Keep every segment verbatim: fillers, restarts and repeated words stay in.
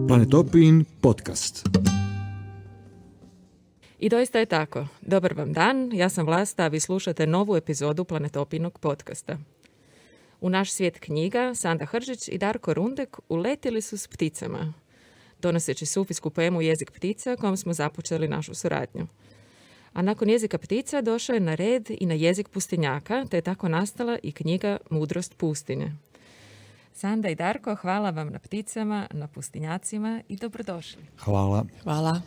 Planetopin podcast. I doista je tako. Dobar vam dan, ja sam Vlasta, a vi slušate novu epizodu Planetopinog podcasta. U naš svijet knjiga Sanda Hržić i Darko Rundek uletili su s pticama, donoseći sufijsku poemu Jezik ptica kojom smo započeli našu suradnju. A nakon jezika ptica došao je na red i na jezik pustinjaka, te je tako nastala i knjiga Mudrost pustinje. Sanda i Darko, hvala vam na pticama, na pustinjacima i dobrodošli. Hvala. Hvala.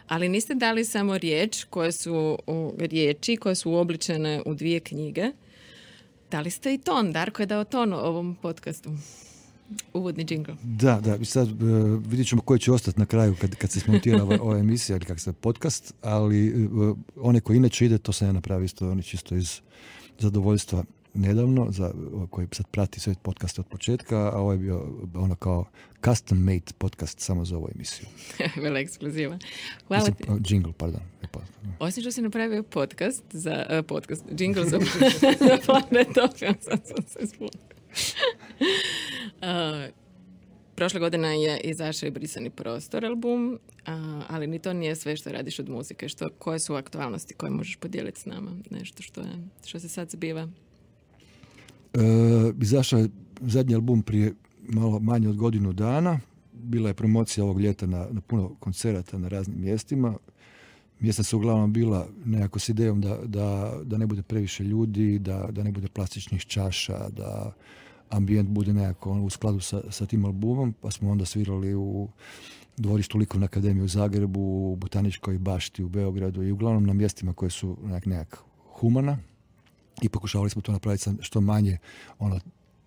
Ali niste dali samo riječ koje su riječi koje su uobličene u dvije knjige. Dali ste i ton. Darko je dao ton ovom podcastu. Uvodni džingl. Da, da. Sad uh, vidjet ćemo koji će ostati na kraju kad, kad se smontira ova, ova emisija ili kak se podcast, ali uh, one koji inače ide, to sam ja napravio isto, oni čisto iz zadovoljstva nedavno, za koji sad prati sve podcaste od početka, a ovo je bio ono kao custom made podcast samo za ovu emisiju. Vela ekskluziva. Hvala ti. Jingle, pardon. Osim što si napravio podcast za uh, podcast, jingle za, za Planetopin, sad sam se spustila. Uh, prošle godine je izašao i Brisani prostor album, uh, ali ni to nije sve što radiš od muzike. Što, koje su aktualnosti koje možeš podijeliti s nama? Nešto što, je, što se sad zbiva? Uh, izašao je zadnji album prije malo manje od godinu dana. Bila je promocija ovog ljeta na, na puno koncerata na raznim mjestima. Mjesta su uglavnom bila nekako s idejom da, da, da ne bude previše ljudi, da, da ne bude plastičnih čaša, da ambijent bude nekako u skladu sa, sa tim albumom, pa smo onda svirali u dvorištu Likovne akademije u Zagrebu, u Botaničkoj bašti u Beogradu i uglavnom na mjestima koje su nekak, nekak humana i pokušavali smo to napraviti što manje ono,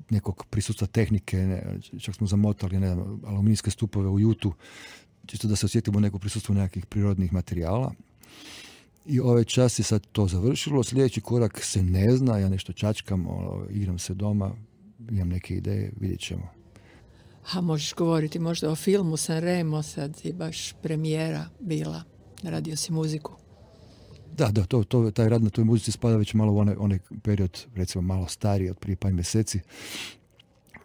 nekog prisutstva tehnike, ne, čak smo zamotali ne znam, aluminijske stupove u jutu, čisto da se osjetimo neko prisustvo nekakvih prirodnih materijala. I ovaj čas je sad to završilo. Sljedeći korak se ne zna, ja nešto čačkam, ono, igram se doma, imam neke ideje, vidjet ćemo. A možeš govoriti možda o filmu Sanremo, sad je baš premijera bila, radio si muziku. Da, da, to, to, taj rad na toj muzici spada već malo u onaj, onaj period, recimo malo stariji, od prije par mjeseci.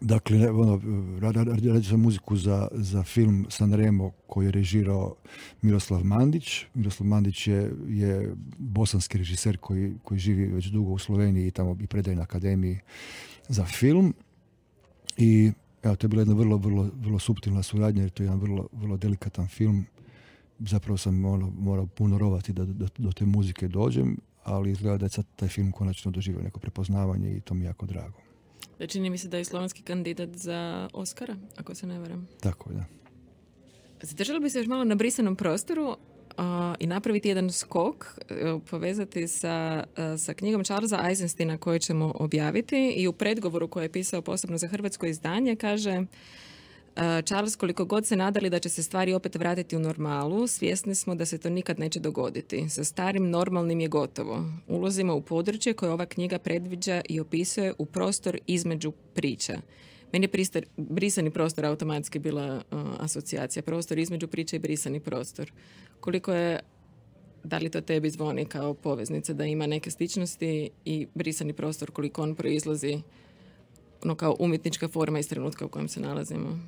Dakle, ono, radio sam muziku za, za film Sanremo koji je režirao Miroslav Mandić. Miroslav Mandić je, je bosanski režiser koji, koji živi već dugo u Sloveniji i tamo i predaje na akademiji za film. I evo, to je bila jedna vrlo, vrlo, vrlo suptilna suradnja jer to je jedan vrlo, vrlo delikatan film. Zapravo sam ono, morao puno rovati da do, do te muzike dođem, ali izgleda da je sad taj film konačno doživio neko prepoznavanje i to mi je jako drago. Da, čini mi se da je slovenski kandidat za Oscara, ako se ne varam. Tako je, da. Zadržali bi se još malo na brisanom prostoru uh, i napraviti jedan skok, uh, povezati sa, uh, sa knjigom Charlesa Eisensteina koju ćemo objaviti i u predgovoru koji je pisao posebno za hrvatsko izdanje kaže uh, Charles, koliko god se nadali da će se stvari opet vratiti u normalu, svjesni smo da se to nikad neće dogoditi. Sa starim normalnim je gotovo. Ulazimo u područje koje ova knjiga predviđa i opisuje u prostor između priča. Meni je pristar, brisani prostor automatski bila uh, asocijacija. Prostor između priče i brisani prostor. Koliko je, da li to tebi zvoni kao poveznica da ima neke sličnosti i brisani prostor, koliko on proizlazi ono kao umjetnička forma iz trenutka u kojem se nalazimo?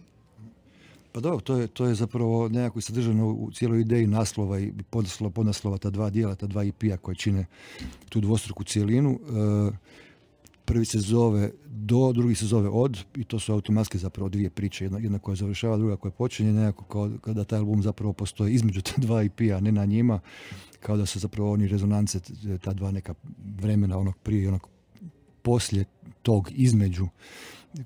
Pa dobro, to je, to je zapravo nekako sadržano u cijeloj ideji naslova i podnaslova, podnaslova ta dva dijela, ta dva E P-a koje čine tu dvostruku cijelinu. E, prvi se zove Do, drugi se zove Od i to su automatski zapravo dvije priče. Jedna, jedna koja završava, druga koja počinje, nekako kao kada taj album zapravo postoji između ta dva E P-a, ne na njima, kao da su zapravo oni rezonance, ta dva neka vremena, onog prije i onog poslije tog između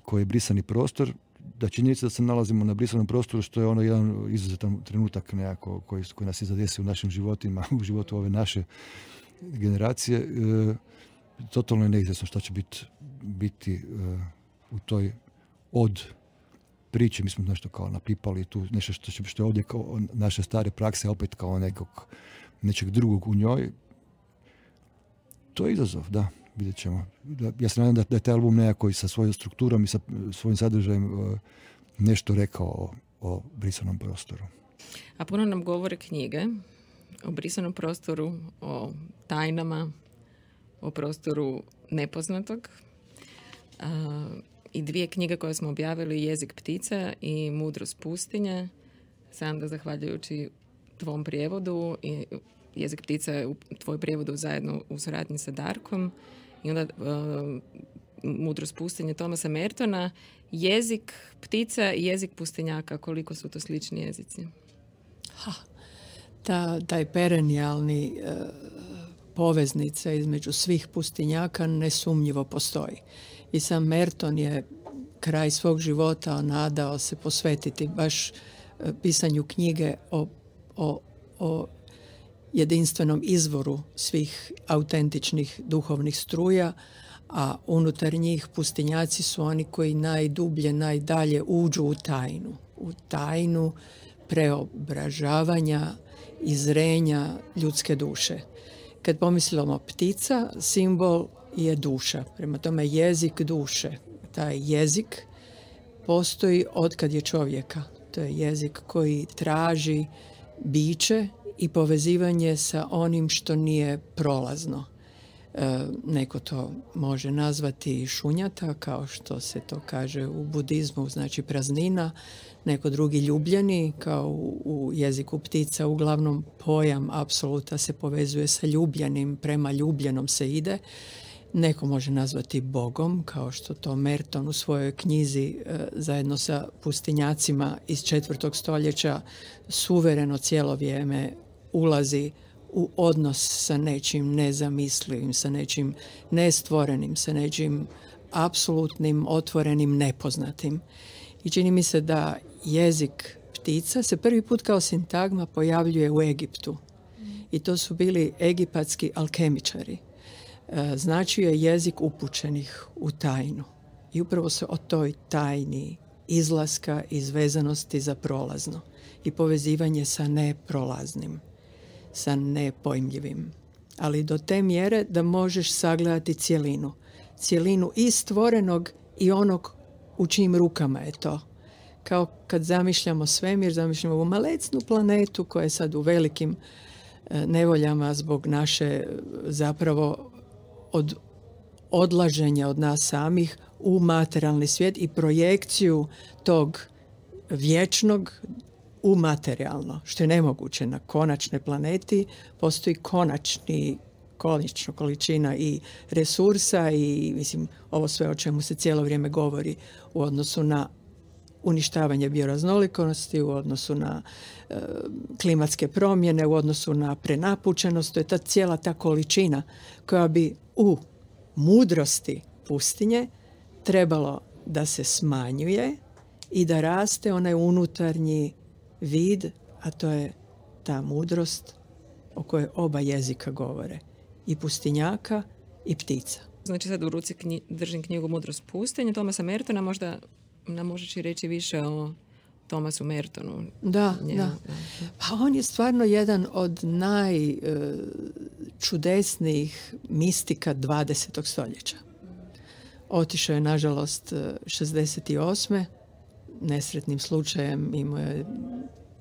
koji je brisani prostor. Da činjenica da se nalazimo na brisanom prostoru, što je ono jedan izuzetan trenutak nekako koji, koji nas je zadesio u našim životima, u životu ove naše generacije. E, totalno je neizvjesno što će bit, biti e, u toj od priče. Mi smo nešto kao napipali tu, nešto što, će, što je ovdje kao naše stare prakse, opet kao nekog, nečeg drugog u njoj. To je izazov, da. Vidjet ćemo. Ja se nadam da, da je taj album nekako i sa svojom strukturom i sa svojim sadržajem uh, nešto rekao o, o brisanom prostoru. A puno nam govore knjige o brisanom prostoru, o tajnama, o prostoru nepoznatog. A, i dvije knjige koje smo objavili, Jezik ptica i Mudrost pustinje, sam da zahvaljujući tvom prijevodu i Jezik ptica je u tvoj prijevodu zajedno u suradnji sa Darkom i onda uh, Mudrost pustinje Thomasa Mertona. Jezik ptica i jezik pustinjaka, koliko su to slični jezici? Ha, ta, taj perennijalni uh, poveznica između svih pustinjaka nesumnjivo postoji. I sam Merton je kraj svog života nadao se posvetiti baš uh, pisanju knjige o, o, o jedinstvenom izvoru svih autentičnih duhovnih struja, a unutar njih pustinjaci su oni koji najdublje, najdalje uđu u tajnu. U tajnu preobražavanja i zrenja ljudske duše. Kad pomislimo ptica, simbol je duša. Prema tome jezik duše. Taj jezik postoji otkad je čovjeka. To je jezik koji traži biće i povezivanje sa onim što nije prolazno. E, neko to može nazvati šunjata, kao što se to kaže u budizmu, znači praznina, neko drugi ljubljeni, kao u, u jeziku ptica. Uglavnom pojam apsoluta se povezuje sa ljubljenim, prema ljubljenom se ide. Neko može nazvati Bogom, kao što to Merton u svojoj knjizi e, zajedno sa pustinjacima iz četvrtog stoljeća suvereno cijelo vrijeme ulazi u odnos sa nečim nezamislivim, sa nečim nestvorenim, sa nečim apsolutnim, otvorenim, nepoznatim. I čini mi se da jezik ptica se prvi put kao sintagma pojavljuje u Egiptu. I to su bili egipatski alkemičari. Značio je jezik upućenih u tajnu. I upravo se o toj tajni izlaska iz vezanosti za prolazno i povezivanje sa neprolaznim, sa nepojmljivim. Ali do te mjere da možeš sagledati cjelinu. Cjelinu i stvorenog i onog u čijim rukama je to. Kao kad zamišljamo svemir, zamišljamo ovu malecnu planetu koja je sad u velikim nevoljama zbog naše zapravo od odlaženja od nas samih u materijalni svijet i projekciju tog vječnog u materijalno, što je nemoguće. Na konačnoj planeti postoji konačni, konačna količina i resursa i mislim ovo sve o čemu se cijelo vrijeme govori u odnosu na uništavanje bioraznolikosti, u odnosu na e, klimatske promjene, u odnosu na prenapučenost. To je ta cijela ta količina koja bi u mudrosti pustinje trebalo da se smanjuje i da raste onaj unutarnji vid, a to je ta mudrost o kojoj oba jezika govore. I pustinjaka i ptica. Znači sad u ruci knji, držim knjigu Mudrost pustinje Thomasa Mertona, možda nam možeš i reći više o Thomasu Mertonu. Da, Njemu, da. Pa on je stvarno jedan od najčudesnijih mistika dvadesetog stoljeća. Otišao je, nažalost, šezdeset osme nesretnim slučajem imao je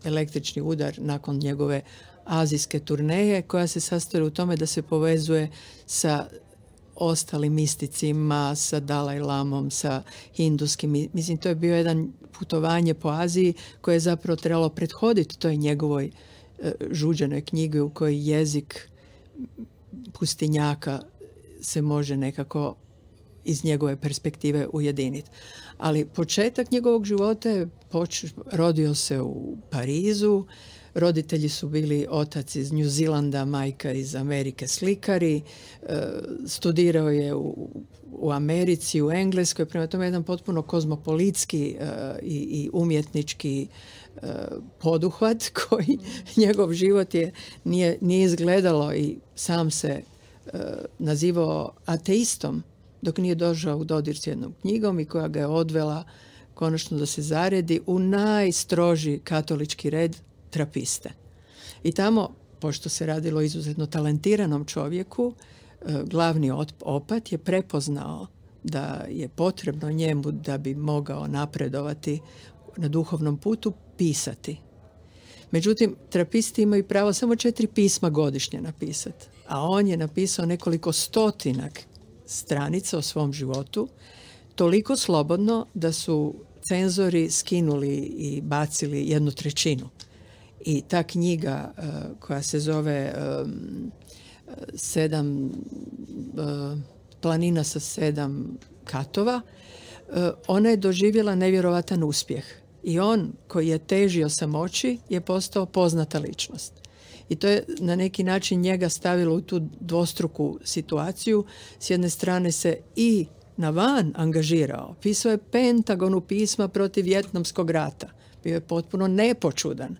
električni udar nakon njegove azijske turneje, koja se sastoji u tome da se povezuje sa ostalim misticima, sa Dalaj Lamom, sa hinduskim. Mislim, to je bio jedan putovanje po Aziji koje je zapravo trebalo prethoditi toj njegovoj e, žuđenoj knjigi u kojoj jezik pustinjaka se može nekako iz njegove perspektive ujediniti. Ali početak njegovog života je poč- rodio se u Parizu. Roditelji su bili otac iz New Zealanda, majka iz Amerike slikari. E, studirao je u, u Americi, u Engleskoj. Prema tome jedan potpuno kozmopolitski e, i, i umjetnički e, poduhvat koji njegov život je nije, nije izgledalo i sam se e, nazivao ateistom dok nije došao u dodir s jednom knjigom i koja ga je odvela konačno da se zaredi u najstroži katolički red trapiste. I tamo, pošto se radilo o izuzetno talentiranom čovjeku, glavni opat je prepoznao da je potrebno njemu da bi mogao napredovati na duhovnom putu pisati. Međutim, trapisti imaju pravo samo četiri pisma godišnje napisati, a on je napisao nekoliko stotina stranica o svom životu. toliko slobodno da su cenzori skinuli i bacili jednu trećinu. I ta knjiga uh, koja se zove um, sedam uh, planina sa sedam katova, uh, ona je doživjela nevjerovatan uspjeh. I on koji je težio samoći je postao poznata ličnost. I to je na neki način njega stavilo u tu dvostruku situaciju. S jedne strane se i na van angažirao. Pisao je Pentagonu pisma protiv Vjetnamskog rata. Bio je potpuno nepočudan.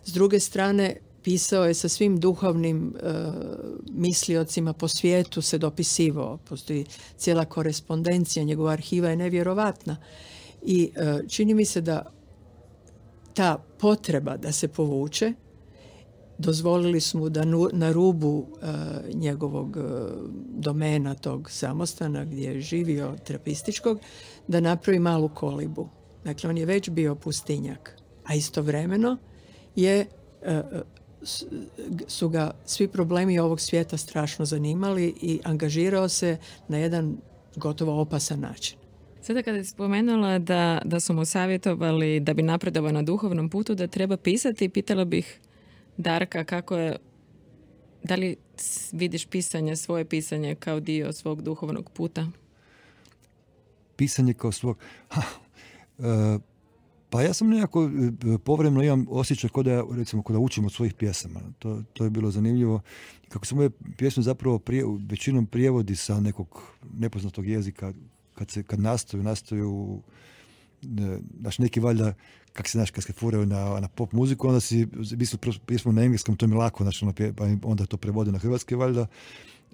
S druge strane, pisao je sa svim duhovnim e, misliocima po svijetu, se dopisivao. Postoji cijela korespondencija, njegova arhiva je nevjerovatna. I e, čini mi se da ta potreba da se povuče, dozvolili su mu da nu, na rubu e, njegovog e, domena, tog samostana gdje je živio terapističkog, da napravi malu kolibu. Dakle, on je već bio pustinjak. A istovremeno je, e, su ga svi problemi ovog svijeta strašno zanimali i angažirao se na jedan gotovo opasan način. Sada kada je spomenula da, da su mu savjetovali da bi napredovao na duhovnom putu, da treba pisati, pitala bih Darka kako je, da li vidiš pisanje, svoje pisanje kao dio svog duhovnog puta? Pisanje kao svog... Ha, e, pa ja sam nekako povremeno imam osjećaj kod da, recimo, kod da učim od svojih pjesama. To, to je bilo zanimljivo. Kako se moje pjesme zapravo prije, većinom prijevodi sa nekog nepoznatog jezika, kad, se, kad nastaju, nastaju znaš, neki valjda, kak se znaš, kad se furaju na, na pop muziku, onda si misli pjesmu na engleskom, to mi je lako, znači, pa onda to prevode na hrvatski valjda.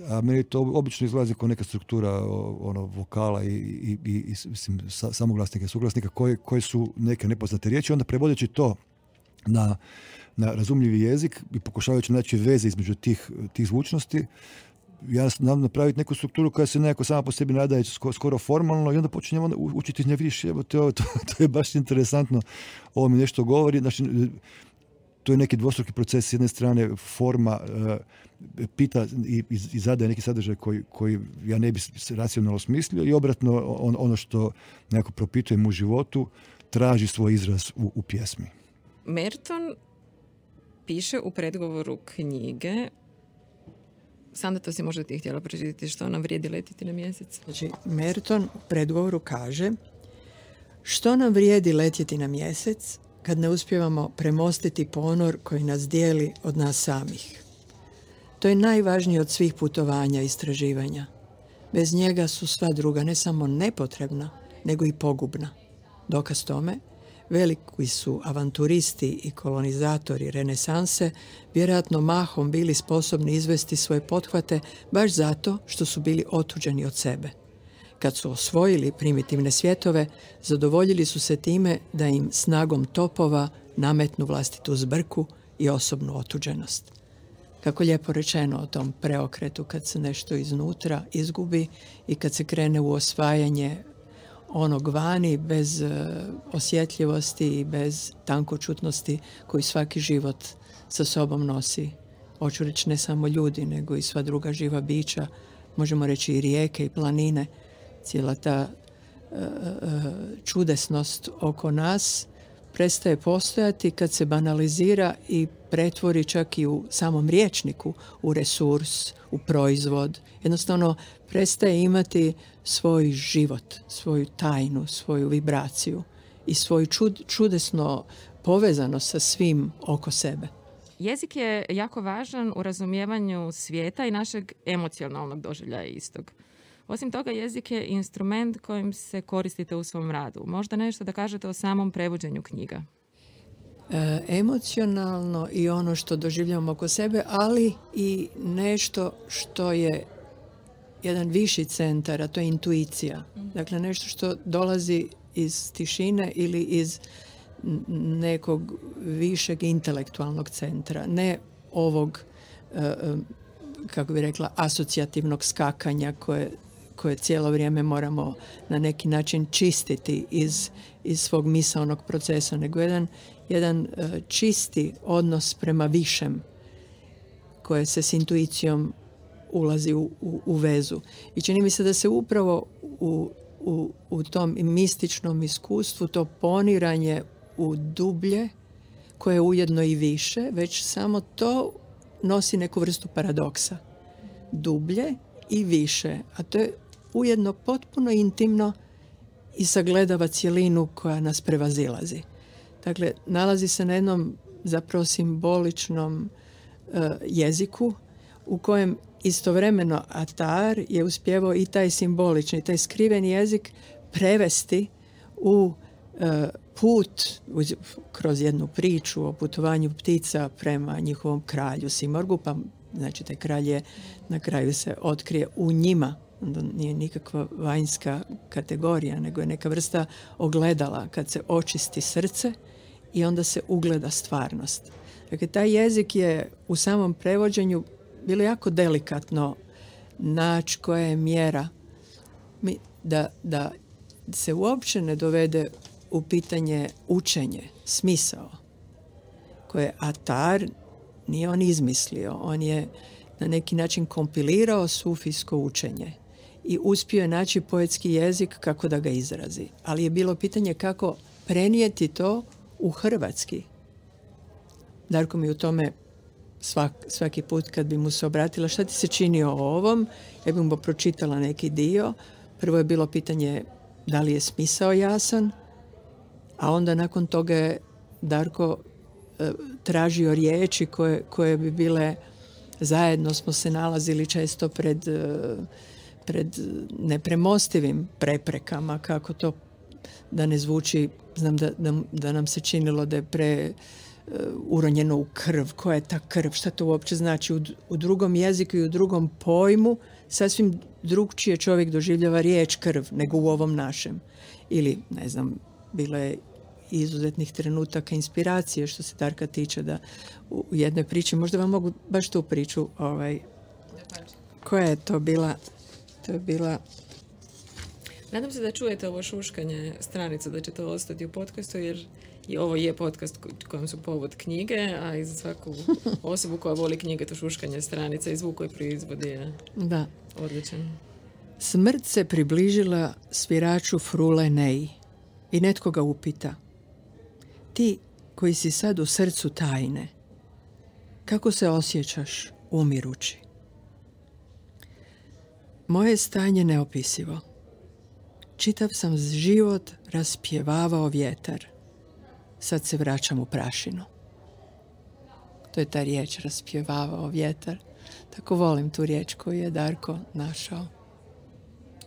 A meni to obično izlazi kao neka struktura ono, vokala i, i, i, i mislim, samoglasnika i suglasnika koji, koji su neke nepoznate riječi. Onda prevodeći to na, na razumljivi jezik i pokušavajući naći veze između tih, tih zvučnosti, ja znam napraviti neku strukturu koja se nekako sama po sebi nadaje skoro formalno i onda počinjem onda učiti iz nje, vidiš, evo, to, to, to je baš interesantno, ovo mi nešto govori. Znači, to je neki dvostruki proces. S jedne strane forma uh, pita i, i zadaje neki sadržaj koji, koji ja ne bi racionalno smislio i obratno on, ono što nekako propitujem u životu traži svoj izraz u, u pjesmi. Merton piše u predgovoru knjige, Sanda, to si možda ti htjela pročitati, što nam vrijedi letiti na mjesec. Znači, Merton u predgovoru kaže: što nam vrijedi letjeti na mjesec kad ne uspijevamo premostiti ponor koji nas dijeli od nas samih. To je najvažnije od svih putovanja i istraživanja. Bez njega su sva druga ne samo nepotrebna, nego i pogubna. Dokaz tome, veliki su avanturisti i kolonizatori renesanse vjerojatno mahom bili sposobni izvesti svoje pothvate baš zato što su bili otuđeni od sebe. Kad su osvojili primitivne svjetove, zadovoljili su se time da im snagom topova nametnu vlastitu zbrku i osobnu otuđenost. Kako lijepo rečeno o tom preokretu kad se nešto iznutra izgubi i kad se krene u osvajanje onog vani bez uh, osjetljivosti i bez tankočutnosti koji svaki život sa sobom nosi. Hoću reći ne samo ljudi, nego i sva druga živa bića, možemo reći i rijeke i planine. Cijela ta uh, uh, čudesnost oko nas prestaje postojati kad se banalizira i pretvori čak i u samom rječniku u resurs, u proizvod. Jednostavno prestaje imati svoj život, svoju tajnu, svoju vibraciju i svoju čud, čudesno povezanost sa svim oko sebe. Jezik je jako važan u razumijevanju svijeta i našeg emocionalnog doživljaja istog. Osim toga, jezik je instrument kojim se koristite u svom radu. Možda nešto da kažete o samom prevođenju knjiga? E, emocionalno i ono što doživljavamo oko sebe, ali i nešto što je jedan viši centar, a to je intuicija. Dakle, nešto što dolazi iz tišine ili iz nekog višeg intelektualnog centra. Ne ovog, e, kako bi rekla, asocijativnog skakanja koje koje cijelo vrijeme moramo na neki način čistiti iz, iz svog misaonog procesa, nego jedan, jedan uh, čisti odnos prema višem koje se s intuicijom ulazi u, u, u vezu. I čini mi se da se upravo u, u, u tom mističnom iskustvu, to poniranje u dublje, koje je ujedno i više, već samo to nosi neku vrstu paradoksa. Dublje i više, a to je ujedno potpuno intimno i sagledava cjelinu koja nas prevazilazi. Dakle, nalazi se na jednom zapravo simboličnom uh, jeziku u kojem istovremeno Atar je uspjevao i taj simbolični, taj skriveni jezik prevesti u uh, put uz, kroz jednu priču o putovanju ptica prema njihovom kralju Simorgu, pa znači taj kralj je na kraju se otkrije u njima. Onda nije nikakva vanjska kategorija, nego je neka vrsta ogledala kad se očisti srce i onda se ugleda stvarnost. Dakle, taj jezik je u samom prevođenju bilo jako delikatno naći koja je mjera da, da se uopće ne dovede u pitanje učenje, smisao, koje Atar nije on izmislio. On je na neki način kompilirao sufijsko učenje i uspio je naći poetski jezik kako da ga izrazi. Ali je bilo pitanje kako prenijeti to u hrvatski. Darko mi u tome svak, svaki put kad bi mu se obratila šta ti se čini o ovom, ja bi mu pročitala neki dio. Prvo je bilo pitanje da li je smisao jasan, a onda nakon toga je Darko e, tražio riječi koje, koje bi bile, zajedno smo se nalazili često pred, e, pred nepremostivim preprekama, kako to da ne zvuči, znam da, da, da nam se činilo da je pre uh, uronjeno u krv. Koja je ta krv? Šta to uopće znači? U, u drugom jeziku i u drugom pojmu sasvim drugčije čovjek doživljava riječ krv nego u ovom našem. Ili, ne znam, bilo je izuzetnih trenutaka inspiracije što se Darka tiče da u jednoj priči, možda vam mogu baš tu priču, ovaj, koja je to bila? To je bila... Nadam se da čujete ovo šuškanje stranica, da će to ostati u podcastu, jer i ovo je podcast kojem su povod knjige, a i za svaku osobu koja voli knjige to šuškanje stranica i zvuk koji proizvodi je da. Odličan. Smrt se približila sviraču Frule Neji i netko ga upita: ti koji si sad u srcu tajne, kako se osjećaš umirući? Moje stanje neopisivo. Čitav sam život raspjevavao vjetar. Sad se vraćam u prašinu. To je ta riječ, raspjevavao vjetar. Tako volim tu riječ koju je Darko našao.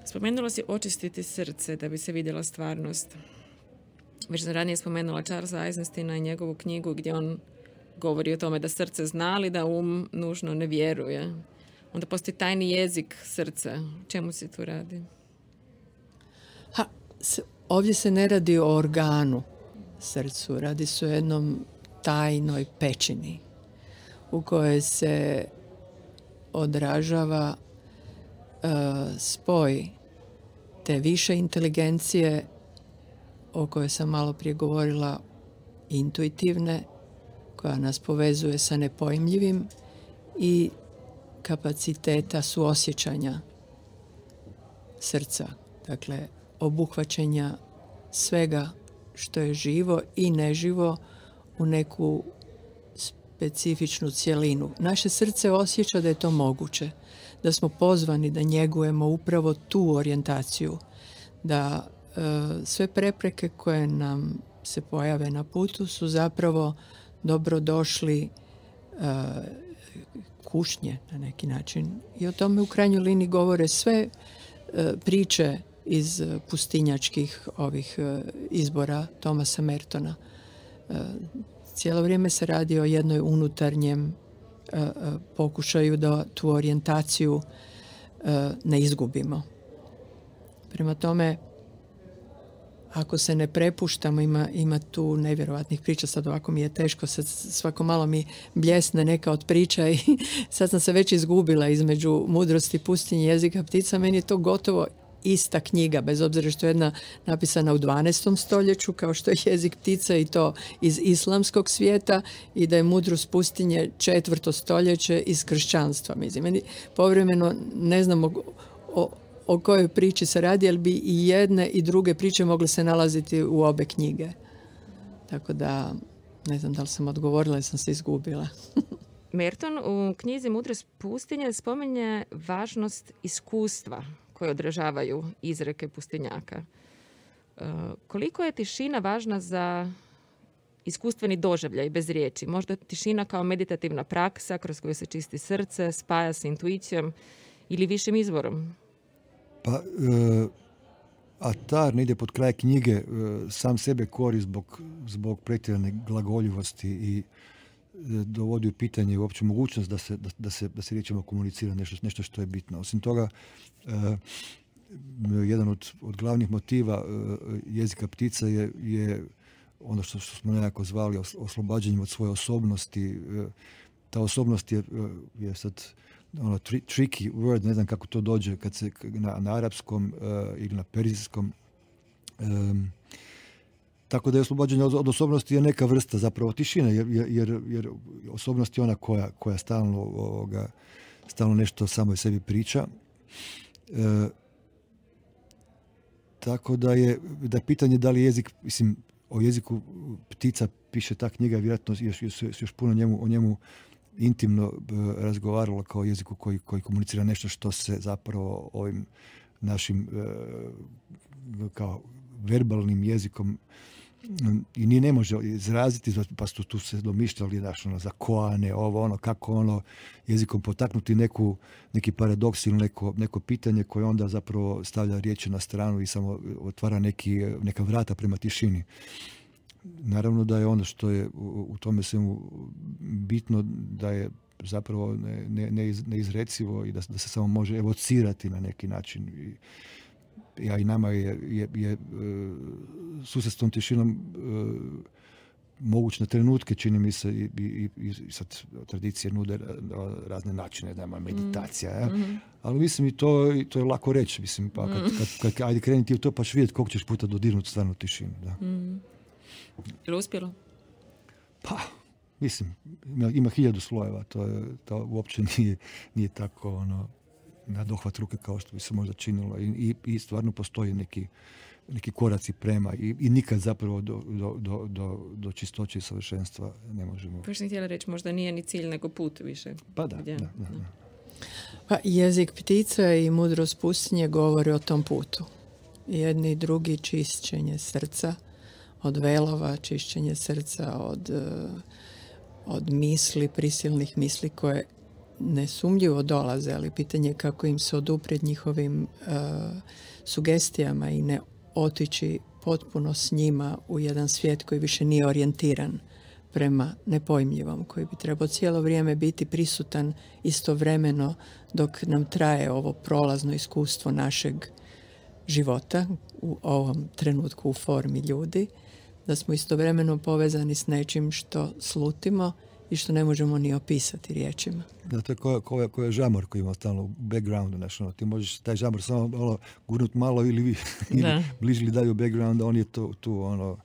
Spomenula si očistiti srce da bi se vidjela stvarnost. Već sam ranije spomenula Charlesa Eisensteina i njegovu knjigu gdje on govori o tome da srce zna, ali da um nužno ne vjeruje. Onda postoji tajni jezik srca. Čemu se tu radi? Ha, ovdje se ne radi o organu srcu, radi se o jednom tajnoj pećini u kojoj se odražava uh, spoj te više inteligencije o kojoj sam malo prije govorila, intuitivne, koja nas povezuje sa nepojmljivim, i kapaciteta suosjećanja srca, dakle obuhvaćenja svega što je živo i neživo u neku specifičnu cjelinu. Naše srce osjeća da je to moguće, da smo pozvani da njegujemo upravo tu orijentaciju, da e, sve prepreke koje nam se pojave na putu su zapravo dobrodošli e, kušnje na neki način. I o tome u krajnjoj liniji govore sve e, priče iz pustinjačkih ovih e, izbora Thomasa Mertona. E, cijelo vrijeme se radi o jednoj unutarnjem e, e, pokušaju da tu orijentaciju e, ne izgubimo. Prema tome, ako se ne prepuštamo, ima, ima tu nevjerovatnih priča, sad ovako mi je teško, sad svako malo mi bljesne neka od priča i sad sam se već izgubila između mudrosti pustinje jezika ptica. Meni je to gotovo ista knjiga, bez obzira što je jedna napisana u dvanaestom stoljeću, kao što je jezik ptica, i to iz islamskog svijeta, i da je mudrost pustinje četvrto stoljeće iz kršćanstva. Mislim, meni povremeno ne znam o, o, o kojoj priči se radi, jer bi i jedne i druge priče mogle se nalaziti u obe knjige. Tako da, ne znam da li sam odgovorila ili sam se izgubila. Merton u knjizi Mudrost pustinje spominje važnost iskustva koje odražavaju izreke pustinjaka. E, koliko je tišina važna za iskustveni doživljaj bez riječi? Možda tišina kao meditativna praksa kroz koju se čisti srce, spaja s intuicijom ili višim izvorom? Pa, e, Atar ne ide pod kraj knjige, e, sam sebe kori zbog, zbog pretjerane glagoljivosti i dovodi u pitanje uopće mogućnost da se, da, da se, da se riječima komunicira nešto, nešto što je bitno. Osim toga, uh, jedan od, od glavnih motiva uh, jezika ptica je, je ono što, što smo nekako zvali oslobađanjem od svoje osobnosti. Uh, ta osobnost je, uh, je sad ono, tri, tricky word, ne znam kako to dođe kad se na, na arapskom uh, ili na perzijskom. Um, Tako da je oslobađanje od, od osobnosti je neka vrsta zapravo tišine, jer, jer, jer osobnost je ona koja, koja stalno, ovoga, stalno nešto samo sebi priča. E, tako da je, da je pitanje da li jezik, mislim, o jeziku ptica piše ta knjiga, vjerojatno još, još, još puno njemu, o njemu intimno razgovaralo kao jeziku koji, koji komunicira nešto što se zapravo ovim našim e, kao verbalnim jezikom i ni ne može izraziti, pa su tu se domišljali znaš, ono, za koane, ovo, ono, kako ono jezikom potaknuti neku, neki paradoks ili neko, neko pitanje koje onda zapravo stavlja riječi na stranu i samo otvara neki, neka vrata prema tišini. Naravno da je ono što je u, u tome svemu bitno da je zapravo ne, ne, neizrecivo i da, da se samo može evocirati na neki način. I, ja i nama je, je, je susret s tom tišinom uh, moguć na trenutke, čini mi se, i, i, i sad tradicije nude razne načine, nema meditacija, mm. ja? Mm-hmm. Ali mislim i to, i to je lako reći, mislim, pa kad, kad, kad, kad ajde krenuti u to, pa ćeš vidjeti koliko ćeš puta dodirnuti stvarno tišinu. Da. Mm. Je li uspjelo? Pa, mislim, ima, ima hiljadu slojeva, to, je, to uopće nije, nije tako, ono, na dohvat ruke kao što bi se možda činilo i, i, i stvarno postoji neki, neki koraci prema i, i nikad zapravo do, do, do, do, do čistoće i savršenstva ne možemo. Pa što sam htjela reći, možda nije ni cilj nego put više. Pa da, da, da, da. Pa jezik ptica i mudrost pustinje govori o tom putu. Jedni i drugi čišćenje srca od velova, čišćenje srca od, od misli, prisilnih misli koje nesumnjivo dolaze, ali pitanje je kako im se oduprijeti njihovim uh, sugestijama i ne otići potpuno s njima u jedan svijet koji više nije orijentiran prema nepojmljivom, koji bi trebao cijelo vrijeme biti prisutan istovremeno dok nam traje ovo prolazno iskustvo našeg života u ovom trenutku u formi ljudi, da smo istovremeno povezani s nečim što slutimo i što ne možemo ni opisati riječima. Da, to je ko, ko, ko je žamor koji ima stalno u backgroundu. Znači, ono, ti možeš taj žamor samo ono, gurnut malo ili, vi, ili bliži ili dalje u backgroundu, on je tu, tu ono,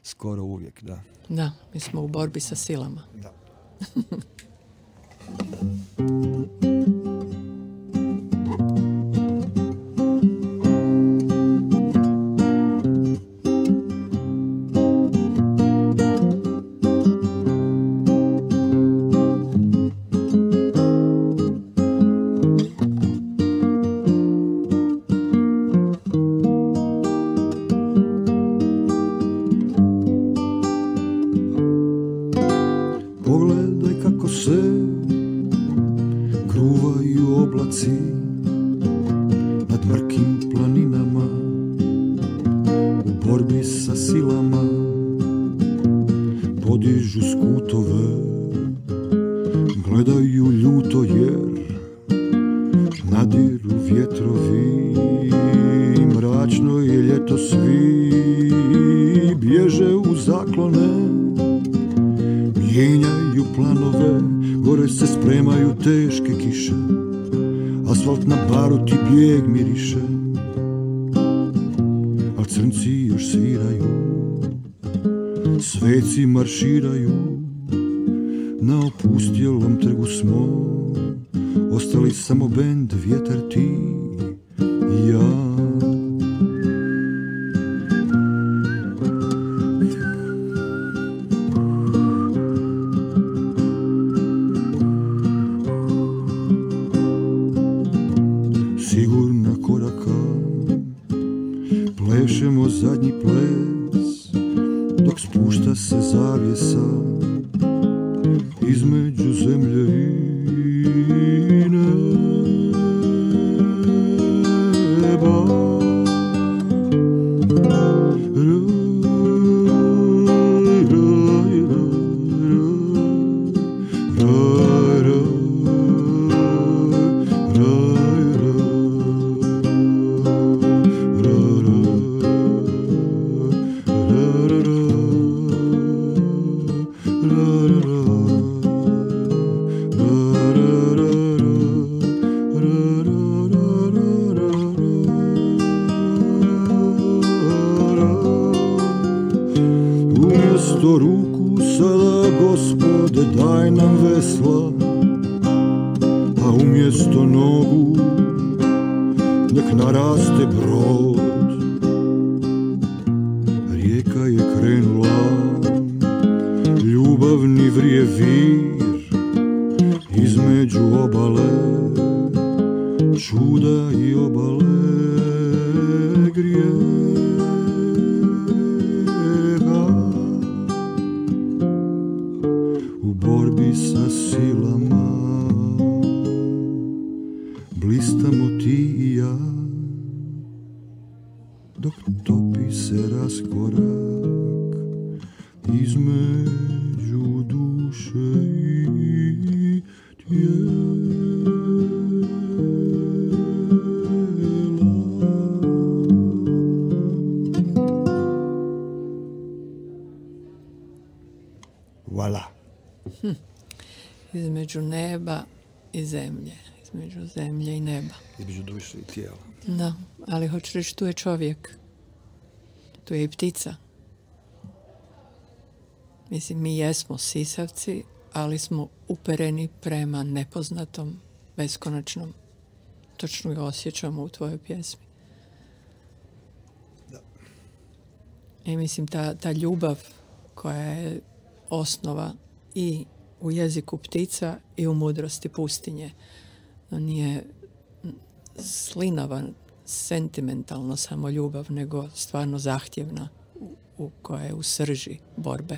skoro uvijek. Da. Da, mi smo u borbi sa silama. Da. Marširaju, na opustjelom trgu smo, ostali samo bend, vjetar, ti ja. Sigurna koraka, plešemo zadnji ples, dok spušta se zavjesa između zemlje i neba. Umjesto ruku sada, Gospode, daj nam vesla, a umjesto nogu nek naraste brod. Rijeka je krenula, ljubavni vrije vir, između obale, čuda i obale grijeha. U borbi sa silama blistamo ti i ja, dok topi se raskorak između duše i tijela. Voilà. Hm. Između neba i zemlje, između zemlje i neba. Između duše i tijela. Da, ali hoću reći, tu je čovjek, tu je i ptica. Mislim, mi jesmo sisavci, ali smo upereni prema nepoznatom, beskonačnom. Točno ga osjećamo u tvojoj pjesmi. Da. I mislim, ta, ta ljubav koja je osnova i u jeziku ptica i u mudrosti pustinje. Nije slinava, sentimentalno samo ljubav, nego stvarno zahtjevna, u, u koja je u srži borbe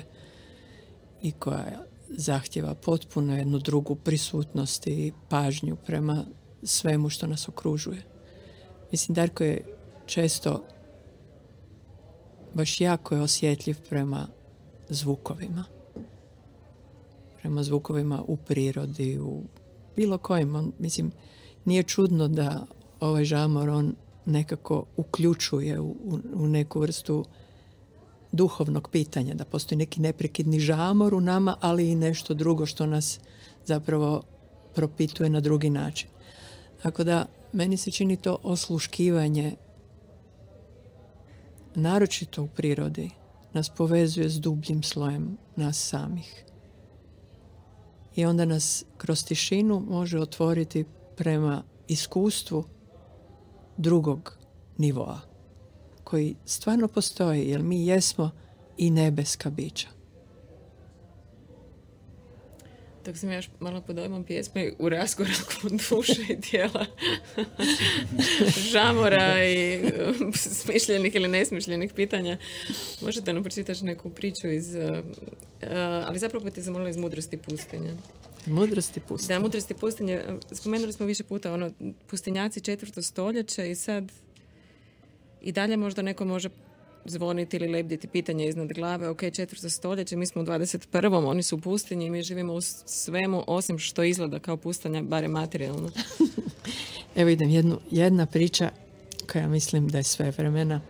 i koja zahtjeva potpuno jednu drugu prisutnost i pažnju prema svemu što nas okružuje. Mislim, Darko je često baš jako je osjetljiv prema zvukovima. Prema zvukovima u prirodi, u bilo kojim. On, mislim, nije čudno da ovaj žamor on nekako uključuje u, u, u neku vrstu duhovnog pitanja, da postoji neki neprekidni žamor u nama, ali i nešto drugo što nas zapravo propituje na drugi način. Tako da, meni se čini to osluškivanje, naročito u prirodi, nas povezuje s dubljim slojem nas samih. I onda nas kroz tišinu može otvoriti prema iskustvu drugog nivoa, koji stvarno postoji, jer mi jesmo i nebeska bića. Dok sam još malo pod dojmom pjesme u raskoraku duše i tijela, žamora i smišljenih ili nesmišljenih pitanja, možete nam pročitati neku priču iz, uh, ali zapravo te zamolila iz Mudrosti pustinje. Mudrosti pustinje. Da, Mudrosti pustinje. Spomenuli smo više puta ono, pustinjaci četvrto stoljeće i sad i dalje možda neko može zvoniti ili lebditi pitanje iznad glave. Ok, četvrto stoljeće, mi smo u dvadeset prvom oni su u pustinji i mi živimo u svemu osim što izgleda kao pustinja, barem materijalno. Evo idem, jednu, jedna priča koja mislim da je sve vremena.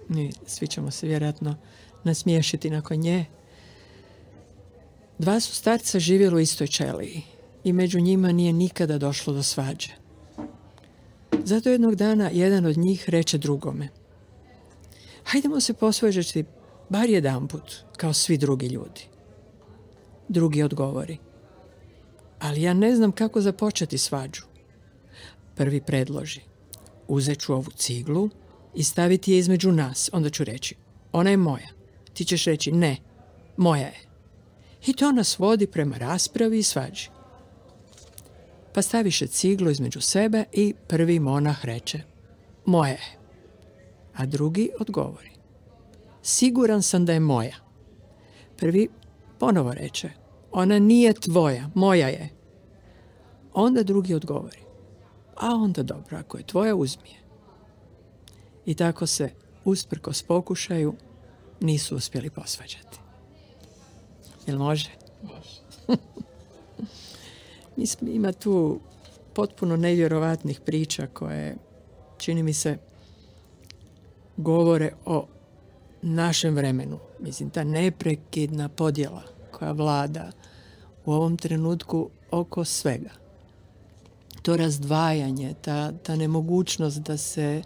Mi svi ćemo se vjerojatno nasmiješiti nakon nje. Dva su starca živjeli u istoj ćeliji i među njima nije nikada došlo do svađe. Zato jednog dana jedan od njih reče drugome: hajdemo se posvađati bar jedanput, kao svi drugi ljudi. Drugi odgovori: ali ja ne znam kako započeti svađu. Prvi predloži: uzet ću ovu ciglu i staviti je između nas. Onda ću reći, ona je moja. Ti ćeš reći, ne, moja je. I to nas vodi prema raspravi i svađi. Pa staviše ciglu između sebe i prvi monah reče, moja je. A drugi odgovori, siguran sam da je moja. Prvi ponovo reče, ona nije tvoja, moja je. Onda drugi odgovori, a onda dobro, ako je tvoja, uzmi je. I tako se, usprkos pokušaju, nisu uspjeli posvađati. Jel može? Može. Ima tu potpuno nevjerovatnih priča koje, čini mi se, govore o našem vremenu. Mislim, ta neprekidna podjela koja vlada u ovom trenutku oko svega. To razdvajanje, ta, ta nemogućnost da se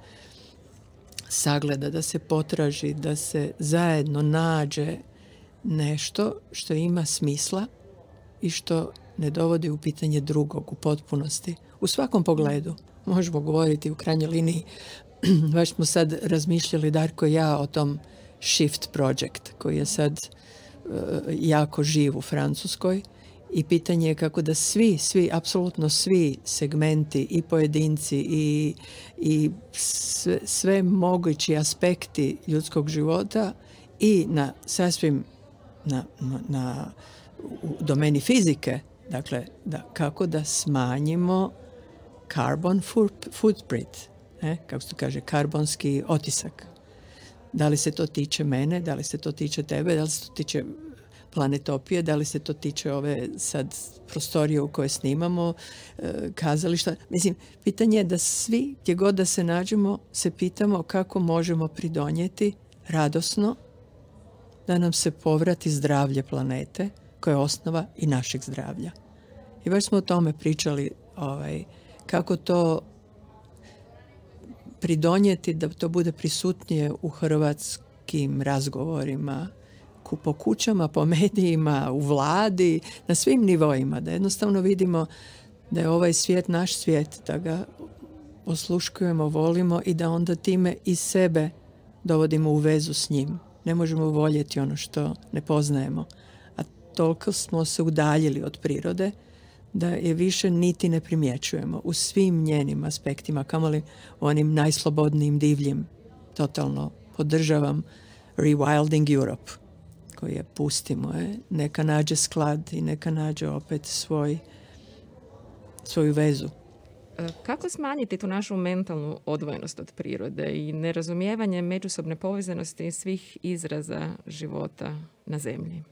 sagleda, da se potraži, da se zajedno nađe nešto što ima smisla i što ne dovodi u pitanje drugog u potpunosti. U svakom pogledu. Možemo govoriti u krajnjoj liniji. Baš smo sad razmišljali, Darko i ja, o tom Shift Project koji je sad uh, jako živ u Francuskoj i pitanje je kako da svi, svi, apsolutno svi segmenti i pojedinci i, i sve, sve mogući aspekti ljudskog života i na sasvim na, na, na u domeni fizike, dakle, da, kako da smanjimo carbon footprint, ne? Kako se to kaže, karbonski otisak. Da li se to tiče mene, da li se to tiče tebe, da li se to tiče Planetopije, da li se to tiče ove sad prostorije u koje snimamo, kazališta. Mislim, pitanje je da svi, gdje god da se nađemo, se pitamo kako možemo pridonijeti radosno da nam se povrati zdravlje planete, koja je osnova i našeg zdravlja. I baš smo o tome pričali, ovaj, kako to pridonijeti da to bude prisutnije u hrvatskim razgovorima, po kućama, po medijima, u vladi, na svim nivoima, da jednostavno vidimo da je ovaj svijet naš svijet, da ga osluškujemo, volimo i da onda time i sebe dovodimo u vezu s njim. Ne možemo voljeti ono što ne poznajemo. A toliko smo se udaljili od prirode da je više niti ne primjećujemo u svim njenim aspektima, kamoli u onim najslobodnijim divljim. Totalno podržavam Rewilding Europe, koji je pustimo je, neka nađe sklad i neka nađe opet svoj, svoju vezu. Kako smanjiti tu našu mentalnu odvojenost od prirode i nerazumijevanje međusobne povezanosti svih izraza života na zemlji?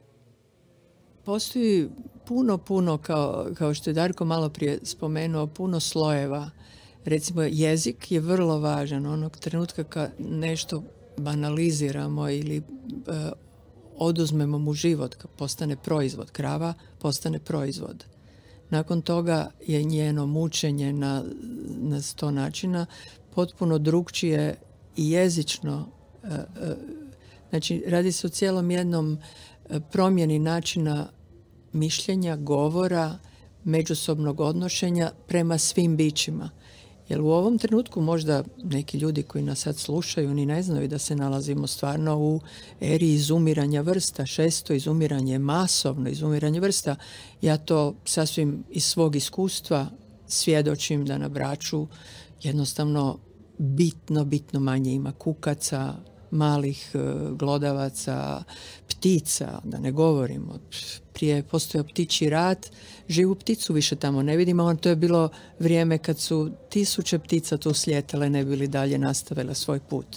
Postoji puno, puno, kao, kao što je Darko malo prije spomenuo, puno slojeva. Recimo, jezik je vrlo važan. Onog trenutka kad nešto banaliziramo ili e, oduzmemo mu život, kad postane proizvod, krava postane proizvod. Nakon toga je njeno mučenje na, na sto načina potpuno drukčije i jezično. E, e, znači, radi se o cijelom jednom promjeni načina mišljenja, govora, međusobnog odnošenja prema svim bićima. Jer u ovom trenutku možda neki ljudi koji nas sad slušaju ni ne znaju da se nalazimo stvarno u eri izumiranja vrsta, šesto izumiranje, masovno izumiranje vrsta. Ja to sasvim iz svog iskustva svjedočim da na Braču jednostavno bitno, bitno manje ima kukaca, malih glodavaca, ptica, da ne govorimo. Prije postojao ptičji rat, živu pticu više tamo ne vidimo, on to je bilo vrijeme kad su tisuće ptica tu slijetale, ne bili dalje nastavile svoj put.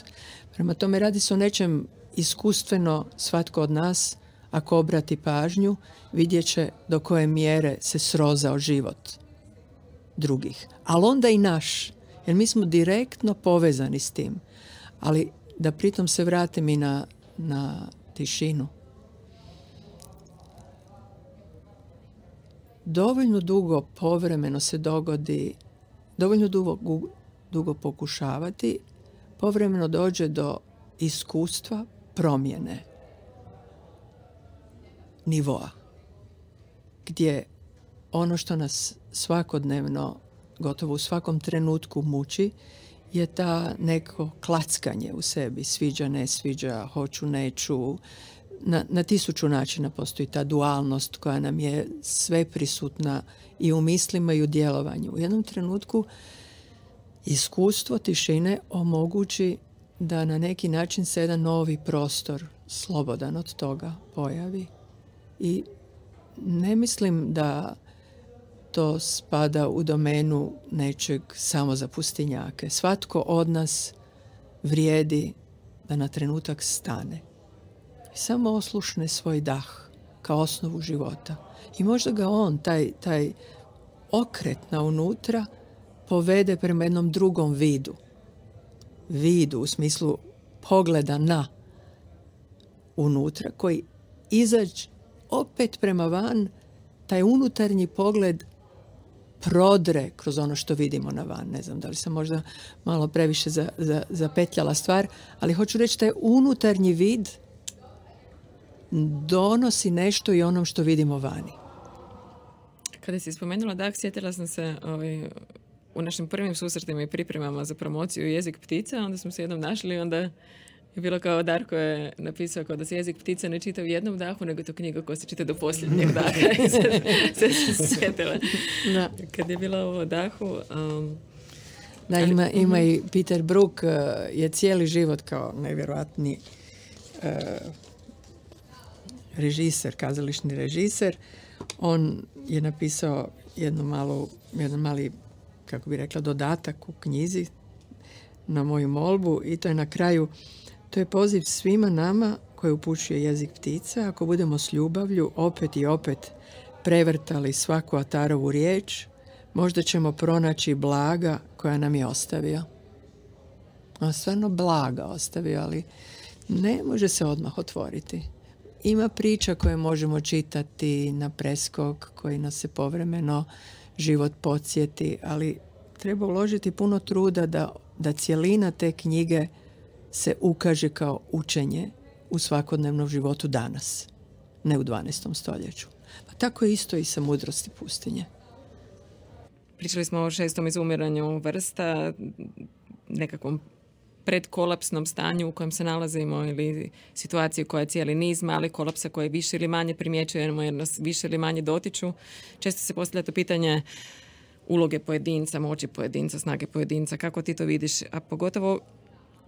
Prema tome radi se o nečem iskustveno, svatko od nas, ako obrati pažnju, vidjet će do koje mjere se srozao život drugih. Ali onda i naš, jer mi smo direktno povezani s tim. Ali da pritom se vratim i na, na tišinu. Dovoljno dugo povremeno se dogodi, dovoljno dugo, dugo pokušavati, povremeno dođe do iskustva promjene nivoa, gdje ono što nas svakodnevno, gotovo u svakom trenutku muči, je ta neko klackanje u sebi, sviđa, ne sviđa, hoću, neću. Na, na tisuću načina postoji ta dualnost koja nam je sve prisutna i u mislima i u djelovanju. U jednom trenutku iskustvo tišine omogući da na neki način se jedan novi prostor, slobodan od toga, pojavi. I ne mislim da to spada u domenu nečeg samo za pustinjake. Svatko od nas vrijedi da na trenutak stane i samo oslušne svoj dah kao osnovu života. I možda ga on, taj, taj okret na unutra, povede prema jednom drugom vidu. Vidu u smislu pogleda na unutra, koji izađe opet prema van, taj unutarnji pogled prodre kroz ono što vidimo na van. Ne znam da li sam možda malo previše za, za, zapetljala stvar, ali hoću reći taj unutarnji vid donosi nešto i onom što vidimo vani. Kada si spomenula dah, sjetila sam se ovaj, u našim prvim susretima i pripremama za promociju Jezik ptica, onda smo se jednom našli i onda je bilo kao Darko je napisao kao da se Jezik ptica ne čita u jednom dahu, nego to knjiga koja se čita do posljednjeg daha. I sve se sjetila. Da. Kad je bila ovo dahu... Um, da, ali, ima, ima i Peter Brook uh, je cijeli život kao nevjerojatni uh, režiser, kazališni režiser. On je napisao jednu malu, jedan mali, kako bi rekla, dodatak u knjizi na moju molbu i to je na kraju, to je poziv svima nama koji upućuje Jezik ptica. Ako budemo s ljubavlju opet i opet prevrtali svaku Atarovu riječ, možda ćemo pronaći blaga koja nam je ostavio. On stvarno blaga ostavio, ali ne može se odmah otvoriti. Ima priča koje možemo čitati na preskok, koji nas se povremeno život podsjeti, ali treba uložiti puno truda da, da cjelina te knjige se ukaže kao učenje u svakodnevnom životu danas, ne u dvanaestom stoljeću. Pa tako je isto i sa Mudrosti pustinje. Pričali smo o šestom izumiranju vrsta, nekakvom predkolapsnom stanju u kojem se nalazimo ili situaciji koja je cijeli niz malih kolapsa koje više ili manje primjećujemo jer nas više ili manje dotiču. Često se postavlja to pitanje uloge pojedinca, moći pojedinca, snage pojedinca. Kako ti to vidiš? A pogotovo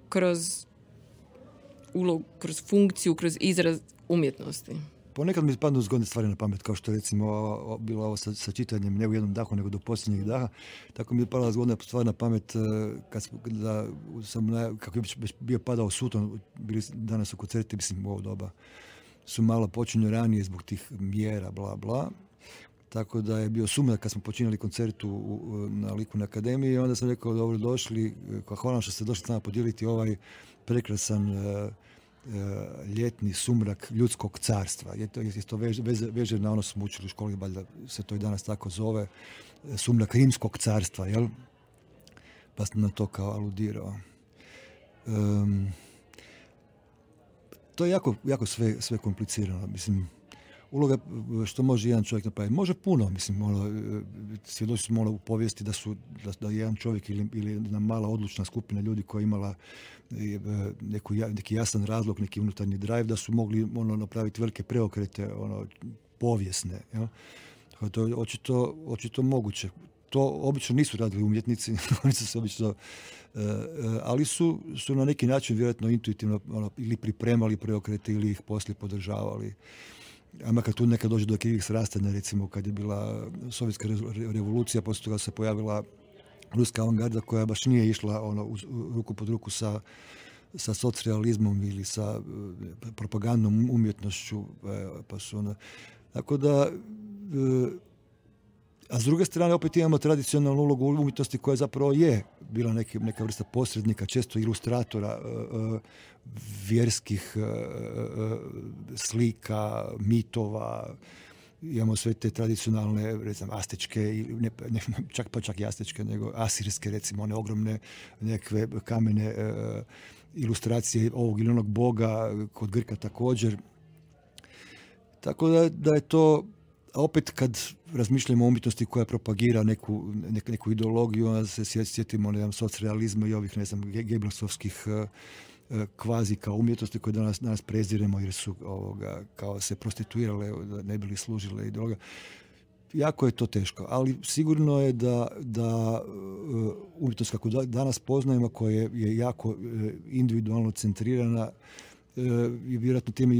kroz ulog, kroz funkciju, kroz izraz umjetnosti. Ponekad mi padnu zgodne stvari na pamet, kao što recimo o, bilo ovo sa, sa čitanjem ne u jednom dahu, nego do posljednjeg daha. Tako mi je padala zgodna stvar na pamet kad da sam, kako je već bio padao suton, bili danas u koncerti, mislim u ovo doba, su malo počinju ranije zbog tih mjera, bla, bla. Tako da je bio sumrak kad smo počinjali koncertu u, na Likovnoj akademiji i onda sam rekao, dobro došli, hvala što ste došli s nama podijeliti ovaj prekrasan uh, ljetni sumrak ljudskog carstva. Je to, je to veže, veže na ono smo učili u školi, valjda se to i danas tako zove, sumrak rimskog carstva, jel? Pa sam na to kao aludirao. Um, to je jako, jako sve, sve komplicirano. Mislim, uloga što može jedan čovjek napraviti. Može puno, mislim, ono, svjedoci smo ono u povijesti da su da, da jedan čovjek ili, ili jedna mala odlučna skupina ljudi koja je imala neku, neki jasan razlog, neki unutarnji drive, da su mogli ono, napraviti velike preokrete ono, povijesne. Ja? To je očito, očito moguće. To obično nisu radili umjetnici, oni su se obično, uh, ali su, su na neki način vjerojatno intuitivno ono, ili pripremali preokrete ili ih poslije podržavali. A makar tu nekad dođe do krivih srastanja, recimo kad je bila sovjetska revolucija, poslije toga se pojavila ruska avangarda koja baš nije išla ono, uz, ruku pod ruku sa, sa socrealizmom ili sa uh, propagandnom umjetnošću. E, pa su onda, tako da, uh, a s druge strane opet imamo tradicionalnu ulogu umjetnosti koja zapravo je bila neki, neka vrsta posrednika, često ilustratora uh, uh, vjerskih uh, uh, slika, mitova. Imamo sve te tradicionalne, recimo, astečke, ne, ne, čak pa čak i astečke, nego asirske, recimo, one ogromne nekakve kamene uh, ilustracije ovog ili onog boga, kod Grka također. Tako da, da je to, A opet kad razmišljamo o umjetnosti koja propagira neku, neku, neku ideologiju, onda se sjetimo ne znam, socrealizma i ovih, ne znam, Gebelsovskih kvazi kao umjetnosti koje danas, danas preziremo jer su ovoga, kao se prostituirale, ne bili služile ideologija. Jako je to teško, ali sigurno je da, da umjetnost kako danas poznajemo, koja je jako individualno centrirana, je vjerojatno tim,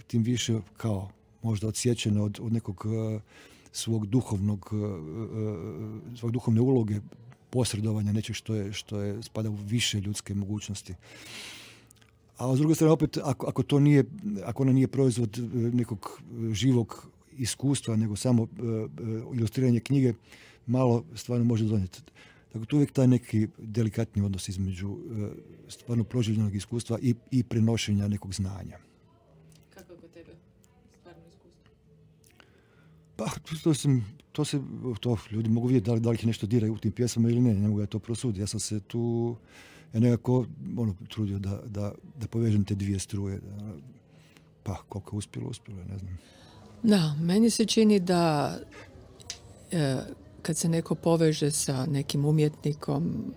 tim više kao možda odsječena od, od nekog svog duhovnog, svog duhovne uloge posredovanja nečeg što je, što je spada u više ljudske mogućnosti. A s druge strane, opet, ako, ako to nije, ako ona nije proizvod nekog živog iskustva, nego samo uh, ilustriranje knjige, malo stvarno može donijeti. Dakle, tu uvijek taj neki delikatni odnos između uh, stvarno proživljenog iskustva i, i prenošenja nekog znanja. Kako je kod tebe stvarno iskustvo? Pa, to, sam, to se, to ljudi mogu vidjeti da li, da li ih nešto diraju u tim pjesama ili ne, ne mogu ja to prosuditi. Ja sam se tu, ja nekako ono, trudio da, da, da povežem te dvije struje. Da, pa, koliko je uspjelo, uspjelo, ne znam. Da, meni se čini da e, kad se neko poveže sa nekim umjetnikom,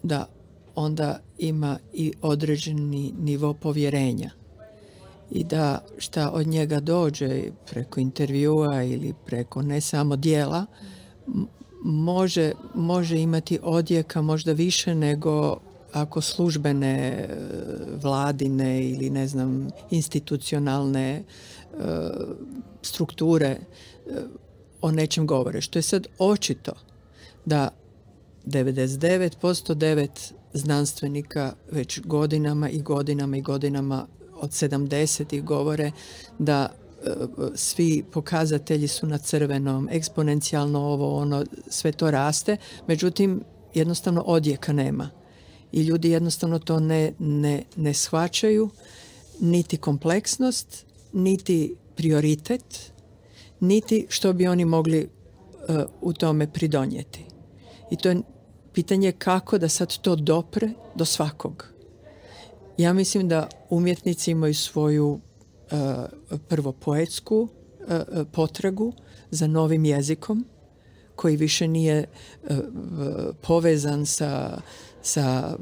da onda ima i određeni nivo povjerenja i da šta od njega dođe preko intervjua ili preko ne samo dijela, može, može imati odjeka možda više nego ako službene vladine ili ne znam institucionalne strukture o nečem govore. Što je sad očito da devedeset devet posto devet znanstvenika već godinama i godinama i godinama od sedamdesetih govore da svi pokazatelji su na crvenom, eksponencijalno ovo, ono, sve to raste, međutim jednostavno odjeka nema. I ljudi jednostavno to ne, ne, ne shvaćaju, niti kompleksnost, niti prioritet, niti što bi oni mogli uh, u tome pridonijeti. I to je pitanje kako da sad to dopre do svakog. Ja mislim da umjetnici imaju svoju uh, prvo poetsku uh, potragu za novim jezikom, koji više nije uh, povezan sa sa